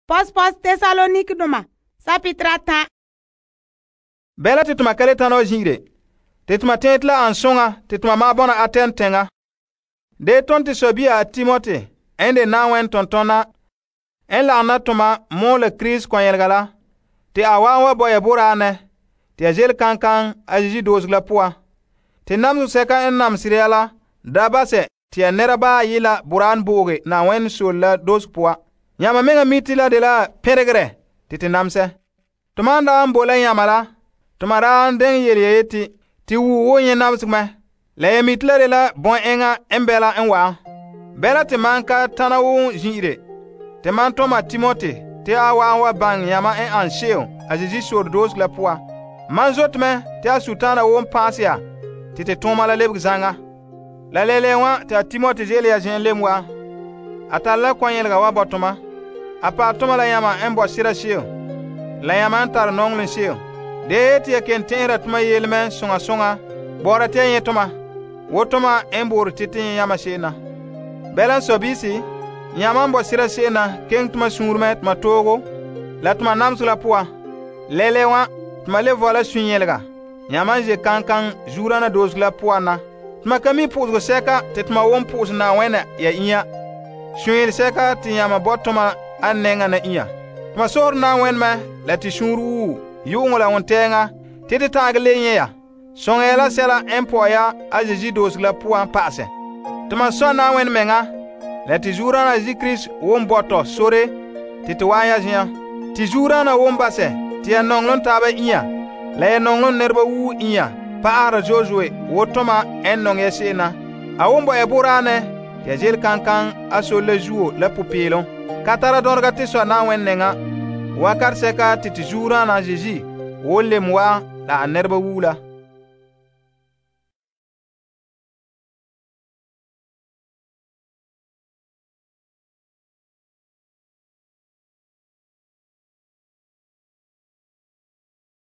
Pos Tesalonikdoma sapitra 10. Bɛla te toma ka le tana wa zin'ire. Te toma tɛɛte la an soŋa te toma maa bɔna Aten teŋa. De ton te sɔbia Timote n de Na'ayenɛ tontona n lagom na toma mɔɔla Krista kɔnyelega la, te a wa'an wa bo ya boraanɛ te ya ze'ele kankan a Yesu doosego la poan. Te namesegɔ sɛka n namesere ya la da basɛ te ya nɛra baa yi' la boraan booge Na'ayenɛ sore la doosego poan. Yãma mɛŋa mi te la dela pɛnregere te te namesɛ. Toma n daa n bo la yãma la, toma daa n deŋɛ yele ya yeti, te wuo wo nyɛ namesegɔ mɛ. La ya mi te la dela bɔn'ɛŋa n bɛla n wa'an. Bɛla te man ka tana wo zin'ire, te man tɔma Timote te a wa'an wa baŋɛ yãma n an se'em a Yesu sore doosego la poan. Man zote mɛ te a Sultana woo paase ya te te tooma la lebege zaŋa. La lele wa te a Timote ze'ele ya zen'en lem wa. A tare la kɔnyelega wa bo toma. A paɛ toma la yãma n bo sera se'em, la yãma n tare nɔŋɔlem se'em. De yeti ya ken tɛn'ɛra toma yelemɛ soŋa soŋa bɔ'ɔra te ya nyɛ toma, wo toma n boore te nyɛ yãma se'em na. Bɛla n sɔbiisi, yãma n bo sera se'em na keŋɛ toma suunre toma toogo la toma namesegɔ la poan. Lɛle wa toma le vɔla sunyɛlega yãma n ze kankan zuurana doosego la poan na. Toma ka mi po'osegɔ sɛka te toma won po'ose Na'ayenɛ ya inya. Sunyɛle sɛka te yãma bo toma a nɛŋa na inya. Toma sohore Na'ayenɛ mɛ la te suunre wuu yu'uŋɔ la wontɛɛŋa te te ta'agɛ le nyɛ ya. Sõŋa ya la sɛla n pɔ'ɛ ya a Yesu doosego la poan pa'asɛ. Toma sɔ Na'ayenɛ mɛŋa la te zuurana Yesu Krista won bo tɔ sore te te wa'an ya zen'an. Te zuurana won basɛ te ya nɔŋlem taaba inya la ya nɔŋlem nɛreba woo inya pa'ahera zo'e wo toma n nɔŋɛ ya se'em na. A won bo ya boraanɛ te ya ze'ele kankan a sore la zuo la popeelom. Ka tara dɔnrega te sɔ Na'ayenɛ nɛŋa wakate sɛka te te zuurana Yesu won lem wa la a nɛreba woo la.